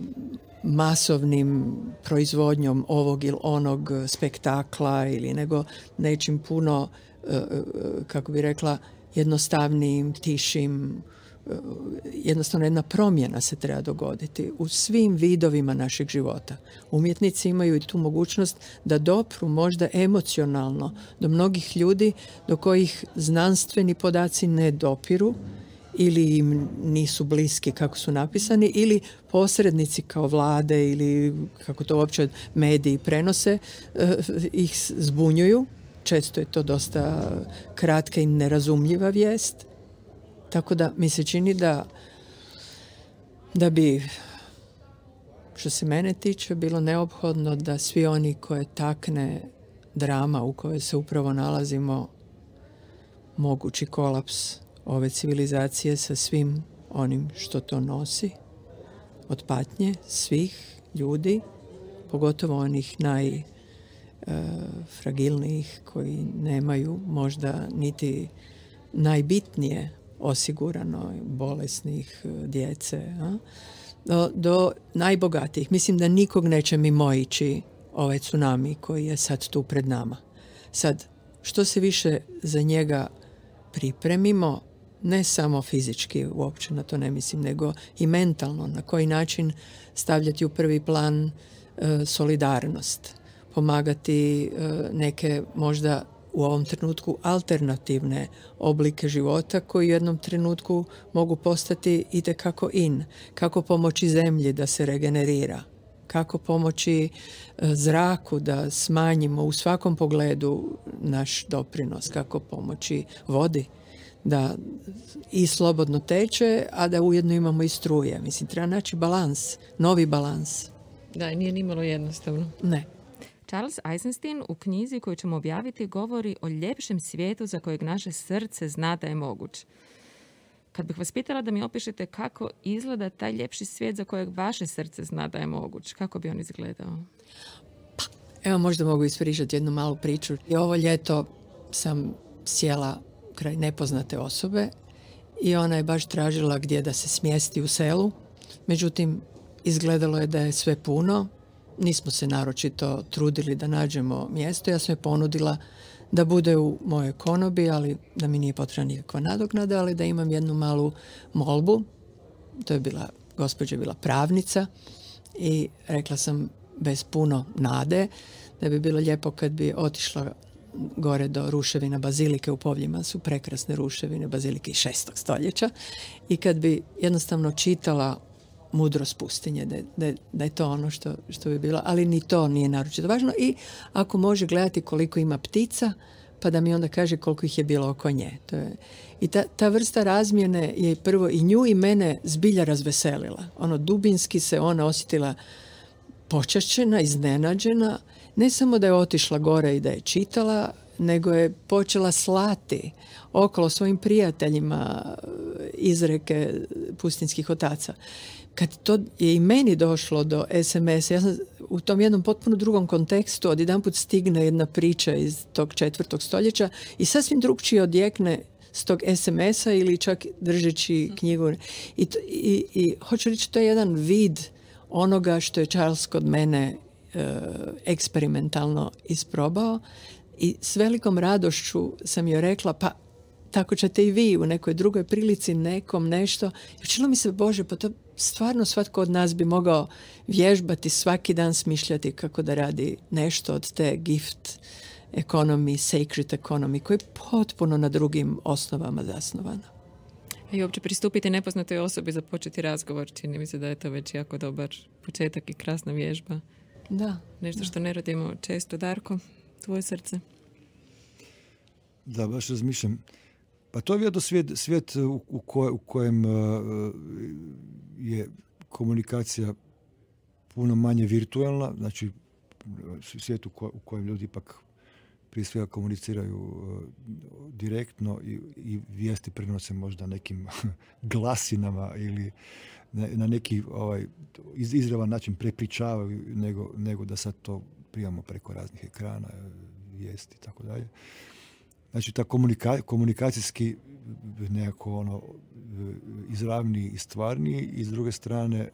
masovnim proizvodnjom ovog ili onog spektakla ili nego nečim puno, kako bi rekla, jednostavnijim, tišim. Jednostavno jedna promjena se treba dogoditi u svim vidovima našeg života. Umjetnici imaju i tu mogućnost da dopru možda emocionalno do mnogih ljudi do kojih znanstveni podaci ne dopiru ili im nisu bliski kako su napisani, ili posrednici kao vlade ili kako to uopće mediji prenose, ih zbunjuju. Često je to dosta kratka i nerazumljiva vijest. Tako da mi se čini da, da bi, što se mene tiče, bilo neophodno da svi oni koje takne drama u kojoj se upravo nalazimo, mogući kolaps ove civilizacije sa svim onim što to nosi, od patnje svih ljudi, pogotovo onih najfragilnijih koji nemaju možda niti najbitnije osigurano, bolesnih, djece, a? Do, do najbogatijih. Mislim da nikog neće mimoići ovaj tsunami koji je sad tu pred nama. Sad, što se više za njega pripremimo, ne samo fizički, uopće na to ne mislim, nego i mentalno, na koji način stavljati u prvi plan e, solidarnost, pomagati e, neke možda u ovom trenutku alternativne oblike života koji u jednom trenutku mogu postati itekako in. Kako pomoći zemlji da se regenerira, kako pomoći zraku da smanjimo u svakom pogledu naš doprinos, kako pomoći vodi da i slobodno teče, a da ujedno imamo i struje. Mislim, treba naći balans, novi balans. Da, nije nimalo jednostavno. Ne. Charles Eisenstein u knjizi koju ćemo objaviti govori o ljepšem svijetu za kojeg naše srce zna da je moguć. Kad bih vas pitala da mi opišete kako izgleda taj ljepši svijet za kojeg vaše srce zna da je moguć, kako bi on izgledao? Pa, evo možda mogu ispričati jednu malu priču. I ovo ljeto sam sjela kraj nepoznate osobe i ona je baš tražila gdje da se smjesti u selu. Međutim, izgledalo je da je sve puno. Nismo se naročito trudili da nađemo mjesto. Ja sam je ponudila da bude u mojoj konobi, ali da mi nije potrebna nikakva nadoknada, ali da imam jednu malu molbu. To je bila, gospođa je bila pravnica i rekla sam bez puno nade da bi bilo lijepo kad bi otišla gore do ruševina Bazilike u Povljima, su prekrasne ruševine Bazilike iz šestog stoljeća, i kad bi jednostavno čitala Mudrost pustinje, da, da, da je to ono što, što bi bilo, ali ni to nije naročito važno. I ako može gledati koliko ima ptica, pa da mi onda kaže koliko ih je bilo oko nje. To je, i ta, ta vrsta razmjene je prvo i nju i mene zbilja razveselila. Ono, dubinski se ona osjetila počašćena, iznenađena, ne samo da je otišla gore i da je čitala, nego je počela slati okolo svojim prijateljima izreke pustinskih otaca. Kad to je i meni došlo do es em es, ja sam u tom jednom potpuno drugom kontekstu, odjedanput stigne jedna priča iz tog četvrtog stoljeća i sasvim drugčije odjekne s tog es em esa ili čak držeći knjigu. I, to, i, i hoću reći, to je jedan vid onoga što je Charles kod mene e, eksperimentalno isprobao, i s velikom radošću sam joj rekla, pa tako ćete i vi u nekoj drugoj prilici nekom nešto. I učinilo mi se, Bože, pa to stvarno svatko od nas bi mogao vježbati, svaki dan smišljati kako da radi nešto od te gift economy, sacred economy, koja je potpuno na drugim osnovama zasnovana. I uopće pristupiti nepoznatoj osobi, započeti razgovor, čini mi se da je to već jako dobar početak i krasna vježba. Da. Nešto da. što ne radimo često. Darko, tvoje srce? Da, baš razmišljam. Pa to je vjerojatno svijet, svijet u, u, koj, u kojem uh, je komunikacija puno manje virtualna, znači svijet u, ko, u kojem ljudi ipak prije svega komuniciraju uh, direktno i, i vijesti prenose možda nekim glasinama ili na, na neki ovaj, iz, izravan način prepričavaju nego, nego da sad to primamo preko raznih ekrana, vijesti i tako dalje. Znači, ta komunika, komunikacijski nekako ono izravniji i stvarniji, i s druge strane e,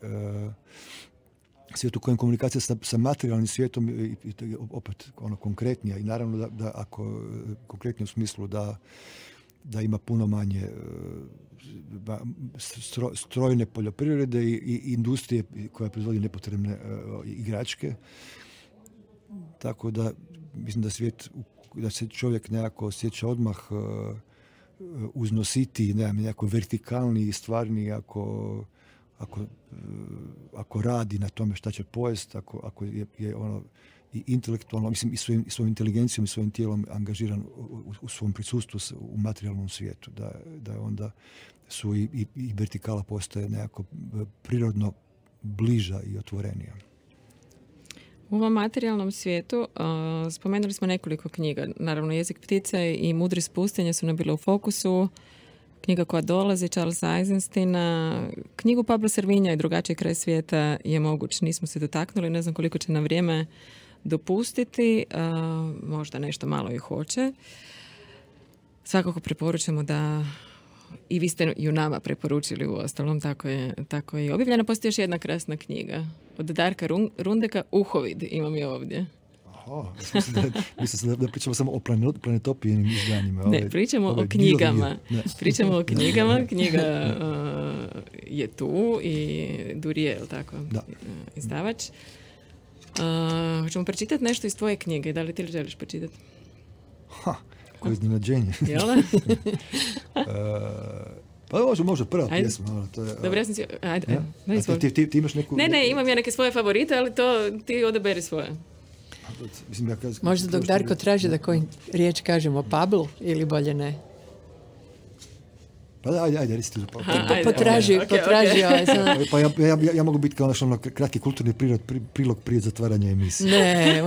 svijet u kojem komunikacija sa, sa materijalnim svijetom i, i opet ono konkretnija, i naravno da, da ako konkretnije u smislu da, da ima puno manje stro, strojne poljoprivrede i, i industrije koja proizvodi nepotrebne e, igračke. Tako da mislim da svijet, da se čovjek nekako osjeća odmah uh, uznositi, ne, nekako vertikalni i stvarni ako, ako, uh, ako radi na tome šta će pojest, ako, ako je, je ono i intelektualno, mislim i svojim, i svojim inteligencijom i svojim tijelom angažiran u, u svom prisustvu u materijalnom svijetu, da, da onda su i, i, i vertikala postaje nekako prirodno bliža i otvorenija. U ovom materijalnom svijetu uh, spomenuli smo nekoliko knjiga. Naravno, Jezik ptice i Mudrost pustinje su nam bile u fokusu. Knjiga koja dolazi, Charlesa Eisenstina. Knjigu Pablo Servinja i Drugačiji kraj svijeta je moguć. Nismo se dotaknuli, ne znam koliko će nam vrijeme dopustiti. Uh, možda nešto malo i hoće. Svakako preporučujemo da i vi ste ju nama preporučili u ostalom, tako je, tako je i objavljena. Postoji još jedna krasna knjiga od Darka Rundeka, Uhovid, imam je ovdje. Aha, mislim da, mislim da, da pričamo samo o planetopijenim izdanjima. Ne, pričamo ove, o knjigama. Pričamo o knjigama. Knjiga uh, je tu i Duriel, tako, da. Izdavač. Uh, hoćemo pročitati nešto iz tvoje knjige. Da li ti želiš pročitati? Ha, koje iznenađenje. Jel da? uh, Pa može, može, prva pjesma. No, to je, dobro, ja sam si... Ajde, ajde. Ja? Ajde ti, ti, ti imaš neku... Ne, ne, imam ja neke svoje favorite, ali to ti odaberi svoje. Mislim, ja kaz, možda dok Darko traži da koju riječ kažemo Pablo ili bolje ne? Pa ajde, ajde, reci ti. Pa, pa, potraži, okay, potraži. Okay. Ovaj, pa ja, ja, ja, ja mogu biti kao naš ono kratki kulturni prilog, prilog prije zatvaranja emisije. Ne,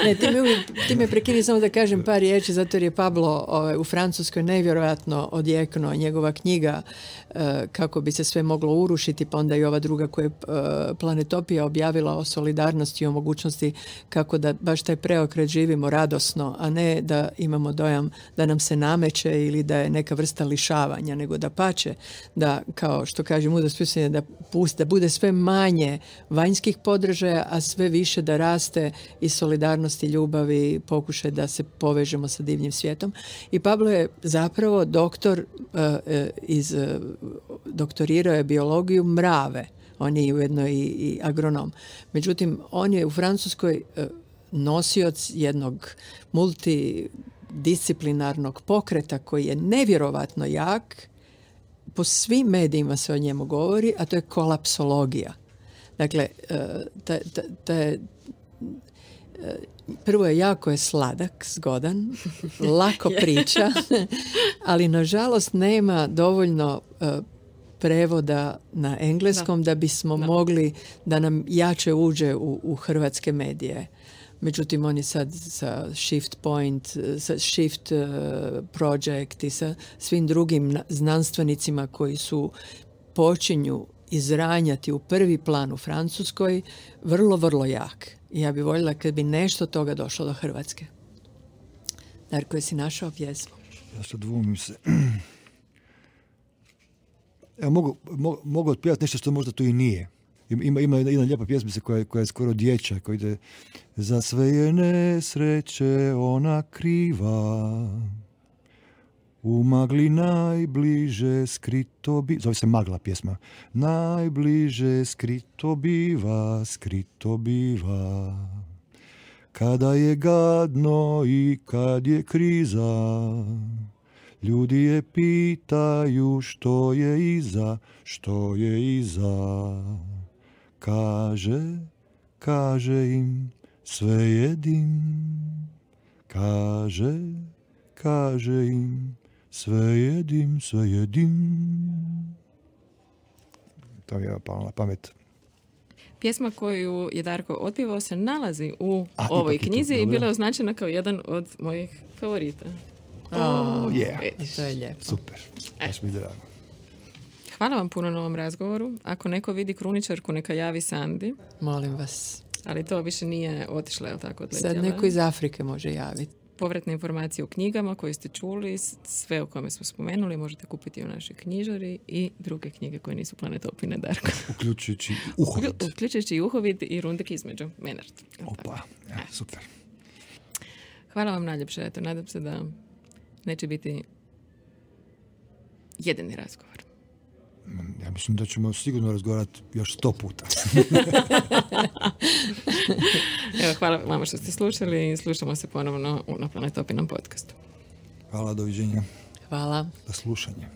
ne ti, me uvijek, ti me prekini samo da kažem par riječi, zato jer je Pablo ovaj, u Francuskoj nevjerojatno odjeknuo njegova knjiga uh, kako bi se sve moglo urušiti, pa onda i ova druga koja je uh, Planetopija objavila o solidarnosti i o mogućnosti kako da baš taj preokret živimo radosno, a ne da imamo dojam da nam se nameće ili da je neka vrsta lišavanja, nego da pače, da, kao što kaže mudrost pisanja, da, pust, da bude sve manje vanjskih podržaja, a sve više da raste i solidarnosti, ljubavi, pokušaj da se povežemo sa divnim svijetom. I Pablo je zapravo doktor, uh, iz, uh, doktorirao je biologiju mrave. On je ujedno i, i agronom. Međutim, on je u Francuskoj uh, nosioc jednog multidisciplinarnog pokreta koji je nevjerovatno jak. Po svim medijima se o njemu govori, a to je kolapsologija. Dakle, ta, ta, ta je, prvo je jako je sladak, zgodan, lako priča, ali nažalost nema dovoljno prevoda na engleskom da, da bismo da. mogli da nam jače uđe u, u hrvatske medije. Međutim, on je sad sa Shift Point, sa Shift Project i sa svim drugim znanstvenicima koji su počinju izranjati u prvi plan u Francuskoj, vrlo, vrlo jak. I ja bih voljela kad bi nešto toga došlo do Hrvatske. Darko, jesi našao pjesmu? Ja sad dvumim se. Evo, mogu, mogu, mogu otpjevati nešto što možda to i nije. Ima, ima jedna, jedna lijepa pjesmica koja, koja je skoro dječja, koja ide: za sve je nesreće ona kriva, u magli najbliže skrito biva. Zove se Magla pjesma. Najbliže skrito biva, skrito biva. Kada je gadno i kad je kriza, ljudi je pitaju što je iza, što je iza. Kaže, kaže im sve jedim, kaže, kaže im sve jedim, sve jedim. To mi je palo na pamet. Pjesma koju je Darko otpjevao se nalazi u A, ovoj knjizi i bila je označena kao jedan od mojih favorita. Oh, yeah. To je lijepo. Super, baš mi drago. Hvala vam puno na ovom razgovoru. Ako neko vidi kruničarku, neka javi Sandi. Molim vas. Ali to više nije otišlo, je li tako? Odletjela? Sad neko iz Afrike može javiti. Povratne informacije o knjigama koje ste čuli, sve o kome smo spomenuli, možete kupiti u našoj knjižari i druge knjige koje nisu Planetopine, Darko. Uključujući Uhovid. Uključujući i Uhovid i Rundek između. Menard. Opa, ja, super. Hvala vam najljepše. Eto, nadam se da neće biti jedini razgovor. Ja mislim da ćemo sigurno razgovarati još sto puta. Evo, hvala vama što ste slušali i slušamo se ponovno na Planetopinom podcastu. Hvala, doviđenja. Hvala. Do slušanja.